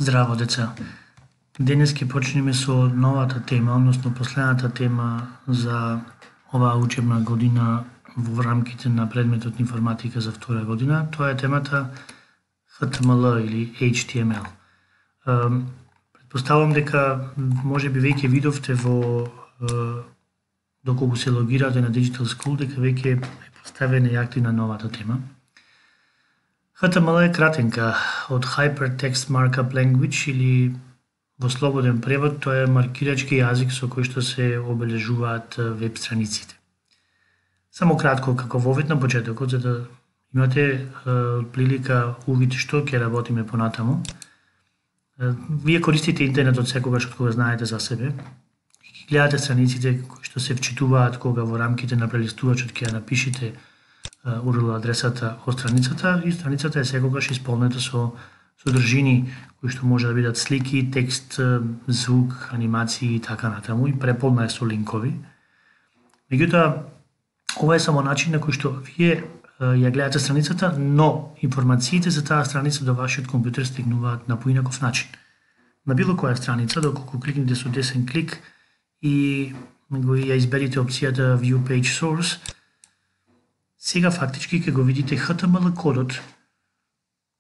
Здраво, деца. Денес ќе почнеме со новата тема, односно последната тема за оваа учебна година во рамките на предметот информатика за втора година. Тоа е темата HTML или HTML. Предпоставувам дека можеби веќе видовте во доколку се логирате на Digital School дека веќе е поставена и активна новата тема. HTML е кратенка од Hypertext Markup Language или во слободен превод тоа е маркирачки јазик со кој што се обележуваат веб страниците. Само кратко како вовид на почетокот, за да имате прилика увид што ќе работиме понатаму. Вие користите интернетот секогаш од кога знаете за себе. Ќе гледате страниците кои што се вчитуваат кога во рамките на прелистувачот ќе ја напишете URL адресата од страницата и страницата е секогаш исполнета со содржини кои што може да бидат слики, текст, звук, анимации и така натаму и преполна е со линкови. Меѓутоа, ова е само начин на кој што вие ја гледате страницата, но информациите за таа страница до вашиот компјутер стигнуваат на поинаков начин. На било која страница, доколку кликнете со десен клик и ја изберете опцијата View Page Source, сега фактички ќе го видите HTML кодот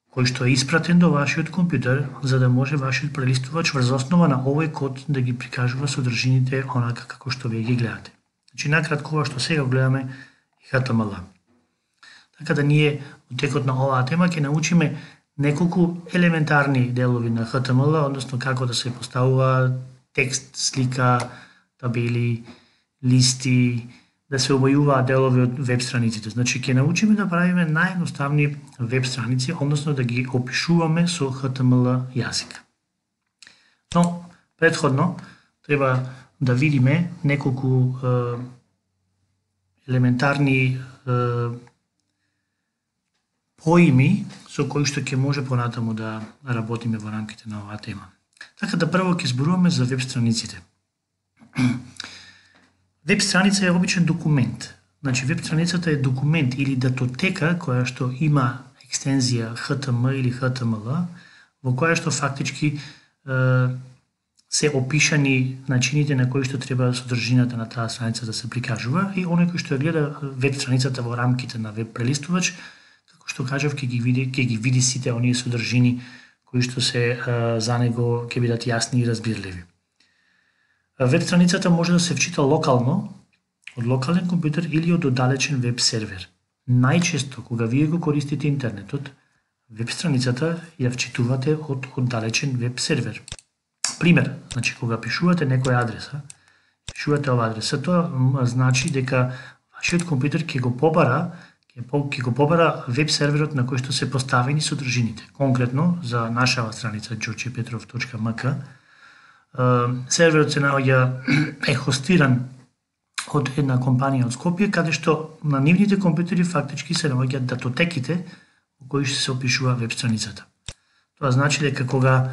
кој што е испратен до вашиот компјутер за да може вашиот прелистувач врз основа на овој код да ги прикажува содржините онака како што вие ги гледате. Значи накратко ова што сега гледаме е HTML. Така да ние во текот на оваа тема ќе научиме неколку елементарни делови на HTML, односно како да се поставува текст, слика, табели, листи, да се обајуваат делови од веб страниците. Значи ќе научиме да правиме наједноставни веб страници, односно да ги опишуваме со HTML јазик. Но претходно треба да видиме неколку елементарни поими со кои што ќе може понатаму да работиме во рамките на оваа тема. Така да прво ќе зборуваме за веб страниците. Веб страница е обичен документ. Значи, веб страницата е документ или датотека која што има екстензија HTML или HTML, во која што фактички се опишани начините на кои што треба содржината на таа страница да се прикажува и оној кој што ја гледа веб страницата во рамките на веб прелистувач, како што кажав, ќе ги види сите оние содржини кои што се за него ќе бидат јасни и разбирливи. Веб страницата може да се вчита локално, од локален компјутер или од оддалечен веб сервер. Најчесто, кога вие го користите интернетот, веб страницата ја вчитувате од оддалечен веб сервер. Пример, значи кога пишувате некоја адреса, пишувате ова адреса, тоа значи дека вашиот компјутер ќе го побара веб серверот на кој што се поставени содржините. Конкретно за нашава страница georgiepetrov.mk, серверот се наоѓа е хостиран од една компанија од Скопје, каде што на нивните компјутери фактички се наоѓаат датотеките во кои што се опишува веб страницата. Тоа значи дека кога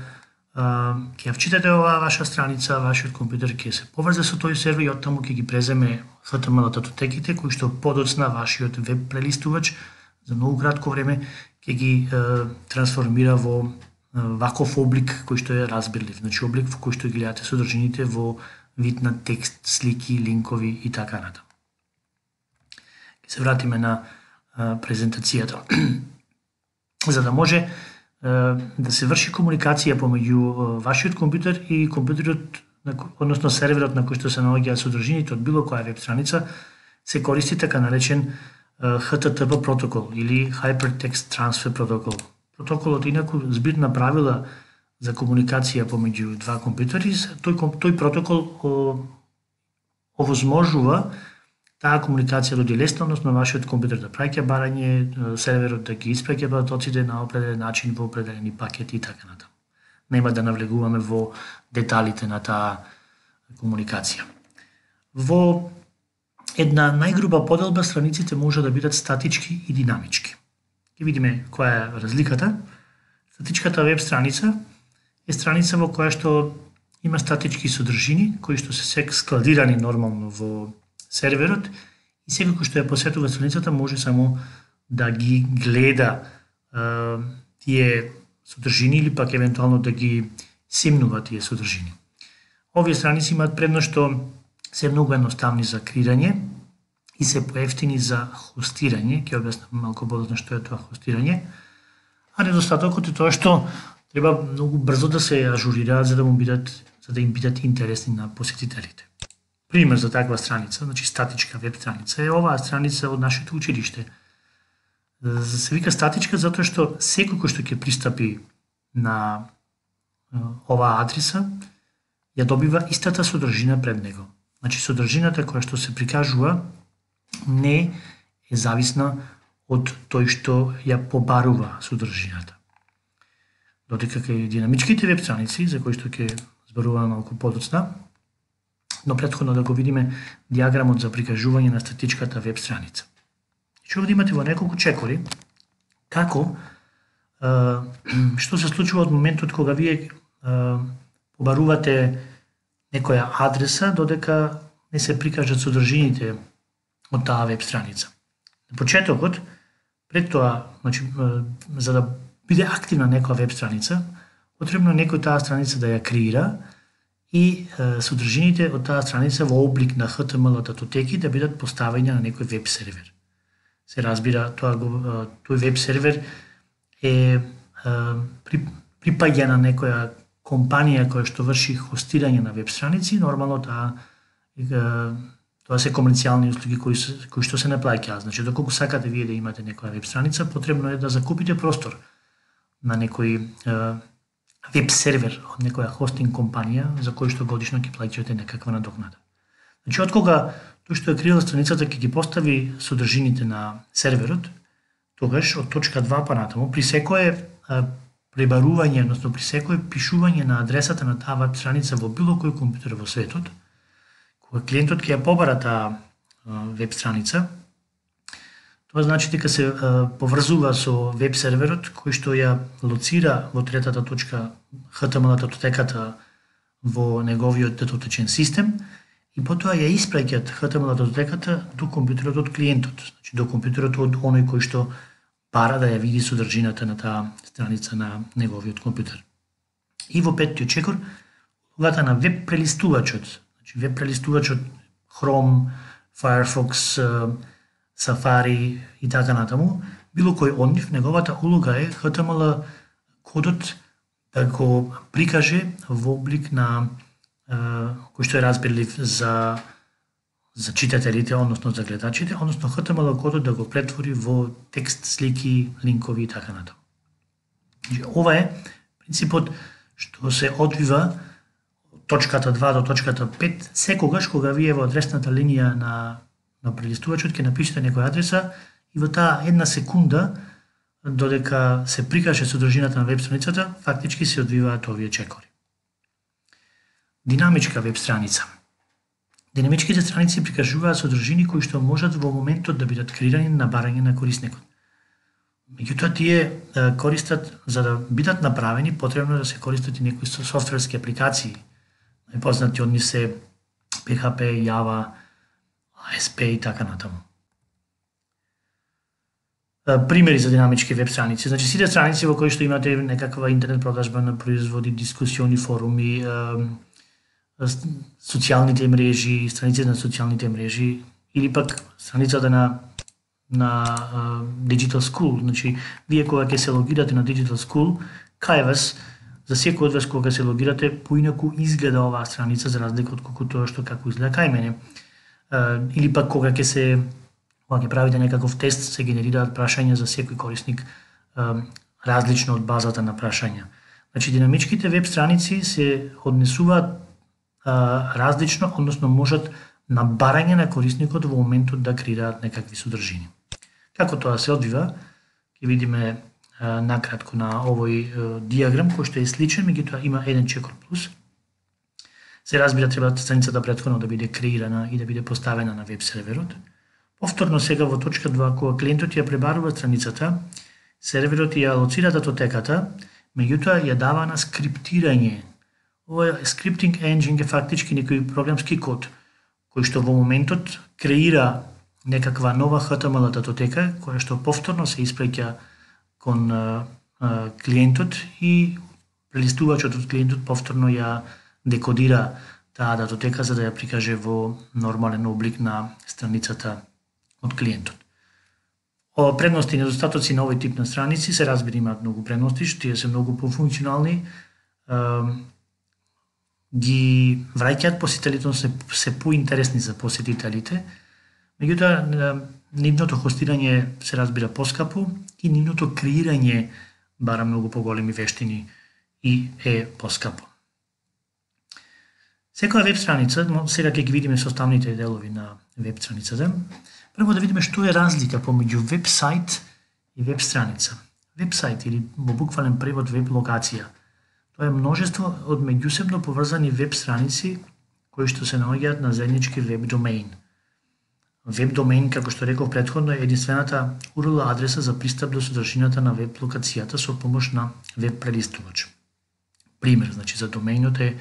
ќе ја вчитате оваа ваша страница, вашиот компјутер ќе се поврзе со тој сервер и оттаму ќе ги преземе HTML датотеките кои што подоцна вашиот веб прелистувач за многу кратко време ќе ги трансформира во ваков облик кој што е разбирлив, значи облик во кој што ги гледате содржините во вид на текст, слики, линкови и така натаму. Ќе се вратиме на презентацијата. За да може да се врши комуникација помеѓу вашиот компјутер и компјутерот, односно серверот на кој што се наоѓаат содржините од било која веб страница, се користи така наречен HTTP протокол или Hypertext Transfer Protocol. Протоколот инаку збирна правила за комуникација помеѓу два компјутери. Тој протокол овозможува таа комуникација да оди лесно, односно вашиот компјутер да праќа барање, серверот да ги испраќа потоците на определен начин во определени пакети и така натаму. Нема да навлегуваме во деталите на таа комуникација. Во една најгруба поделба страниците може да бидат статички и динамички. Ќе видиме која е разликата. Статичката веб страница е страница во која што има статички содржини кои што се складирани нормално во серверот и секој кој што ја посетува страницата може само да ги гледа тие содржини или пак евентуално да ги семнува тие содржини. Овие страници имаат предност што се многу едноставни за креирање и се поевтини за хостирање, ќе објаснам малку подоцна што е тоа хостирање, а недостатокот е тоа што треба многу брзо да се ажурираат за да им бидат интересни на посетителите. Пример за таква страница, значи статичка веб страница, е оваа страница од нашето училиште. Се вика статичка затоа што секој кој што ќе пристапи на оваа адреса ја добива истата содржина пред него. Значи содржината која што се прикажува не е зависна од тој што ја побарува содржината. Додека кај динамичките веб страници, за кои што ќе зборуваме малку подоцна, но претходно да го видиме диаграмот за прикажување на статичката веб страница. Значи овде имате во неколку чекори како што се случува од моментот кога вие побарувате некоја адреса додека не се прикажат содржините од таа веб страница. На почетокот, пред тоа, значи, за да биде активна некоја веб страница, потребно некој таа страница да ја креира и содржините од таа страница во облик на HTML датотеки да бидат поставени на некој веб сервер. Се разбира, тој веб сервер е припаѓа на некоја компанија која што врши хостирање на веб страници, нормално тоа се комерцијални услуги кои што се не плаќаат. Значи, доколку сакате вие да имате некоја веб страница, потребно е да закупите простор на некој веб сервер од некоја хостинг компанија за кој што годишно ќе плаќате некаква надокнада. Значи, откога тој што е креирал страницата ќе ги постави содржините на серверот, тогаш од точка 2 па натаму, при секое пребарување, односно при секое пишување на адресата на таа веб страница во било кој компјутер во светот, кога клиентот ќе ја побара таа веб страница, тоа значи дека се поврзува со веб серверот кој што ја лоцира во третата точка HTML датотеката во неговиот датотечен систем и потоа ја испраќаат HTML датотеката до компјутерот од клиентот, значи до компјутерот од оној кој што бара да ја види содржината на таа страница на неговиот компјутер. И во петтиот чекор, улогата на веб прелистувачот, значи веб прелистувачот Chrome, Firefox, Safari и така натаму, било кој од нив, неговата улога е HTML кодот да го прикаже во облик на кој што е разбирлив за читателите, односно за гледачите, односно HTML кодот да го претвори во текст, слики, линкови и така натаму. Ова е принципот што се одвива од точката 2 до точката 5, секогаш кога вие во адресната линија на прелистувачот ќе напишете некоја адреса и во таа една секунда додека се прикаже содржината на веб страницата, фактички се одвиваат овие чекори. Динамичка веб страница. Динамичките страници прикажуваат содржини кои што можат во моментот да бидат креирани на барање на корисникот. Меѓутоа тие користат, за да бидат направени, потребно да се користат и некои софтверски апликации. Најпознати од нив се PHP, Java, ASP и така натаму. Примери за динамички веб страници. Значи, сите страници во кои што имате некаква интернет продажба на производи, дискусиони, форуми, социјалните мрежи, страниците на социјалните мрежи или пак страницата на Digital School. Значи, вие кога ќе се логирате на Digital School, кај вас, за секој од вас кога се логирате, поинаку изгледа оваа страница за разлика од тоа што како изгледа кај мене. Или пак кога ќе правите некаков тест, се генерираат прашања за секој корисник различно од базата на прашања. Значи, динамичките веб страници се однесуваат различно, односно можат на барање на корисникот во моментот да креираат некакви содржини. Како тоа се одвива, ќе видиме накратко на овој диаграм кој што е сличен, меѓутоа има еден чекор плюс. Се разбира, треба страницата претходно да биде креирана и да биде поставена на веб серверот. Повторно сега во точка 2, кога клиентот ја пребарува страницата, серверот ја алоцира датотеката, меѓутоа ја дава на скриптирање. Ова скриптинг енджин е фактички некој програмски код, кој што во моментот креира некаква нова HTML датотека, која што повторно се испраќа кон клиентот и прелистувачот од клиентот повторно ја декодира таа датотека за да ја прикаже во нормален облик на страницата од клиентот. Предности и недостатоци на овој тип на страници се разбира имаат многу предности, што тие се многу пофункционални, ги враќаат посетителите, се поинтересни за посетителите, меѓутоа нивното хостирање се разбира поскапо и нивното креирање бара многу поголеми вештини и е поскапо. Секоја веб страница, сега ќе ги видиме составните делови на веб страницата. Прво да видиме што е разлика помеѓу веб сайт и веб страница. Веб сайт или во буквален превод веб локација. Тоа е множество од меѓусебно поврзани веб страници кои што се наоѓаат на заеднички веб домеин. Веб домеин, како што реков претходно, е единствената URL адреса за пристап до содржината на веб локацијата со помош на веб прелистувач. Пример, значи за домеинот е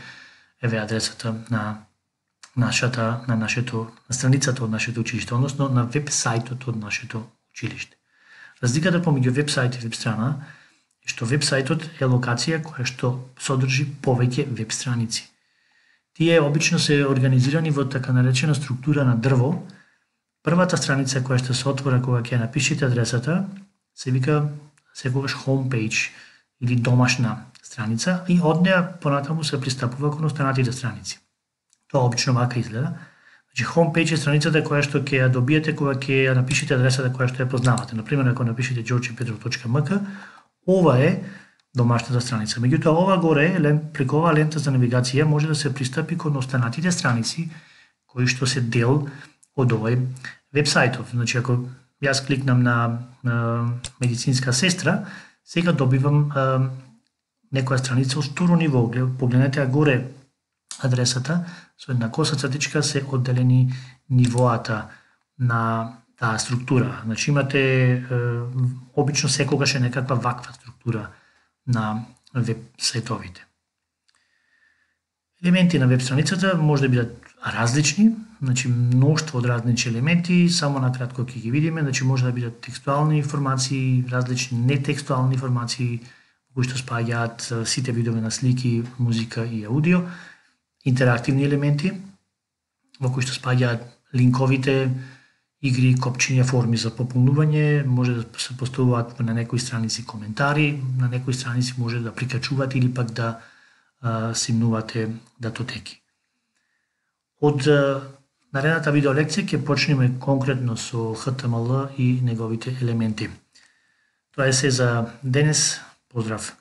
еве адресата на страницата од нашето училиште, односно на веб сајтот од нашето училиште. Разликата помеѓу веб сајт и веб страна е што веб сајтот е локација која што содржи повеќе веб страници. Тие обично се организирани во така наречена структура на дрво. Првата страница која што се отвора кога ќе напишете адресата се вика секогаш homepage или домашна страница и од неа понатаму се пристапува кон останатите страници. Тоа обично вака изгледа. Значи homepage е страницата која што ќе ја добиете кога ќе ја напишете адресата која што ја познавате. Например, ако напишете georgepetrov.mk, ова е домашната страница. Меѓутоа ова горе, преку оваа лента за навигација може да се пристапи кон останатите страници кои што се дел од овој веб сајтов. Значи ако јас кликнам на медицинска сестра, сега добивам некоја страница од второ ниво. Погледнете горе адресата, со една коса цртичка се одделени нивоата на таа структура. Значи имате обично секогаш е некаква ваква структура на веб сајтовите. Елементи на веб страницата може да бидат различни, значи мноштво од различни елементи, само накратко ќе ги видиме, значи може да бидат текстуални информации, различни нетекстуални информации, кои што спаѓаат сите видови на слики, музика и аудио, интерактивни елементи, во кои што спаѓаат линковите, игри, копчиња, форми за пополнување, може да се поставуваат на некои страници коментари, на некои страници може да прикачувате или пак да симнувате датотеки. Од наредната видеолекција ќе почнеме конкретно со HTML и неговите елементи. Тоа е се за денес. Поздрав!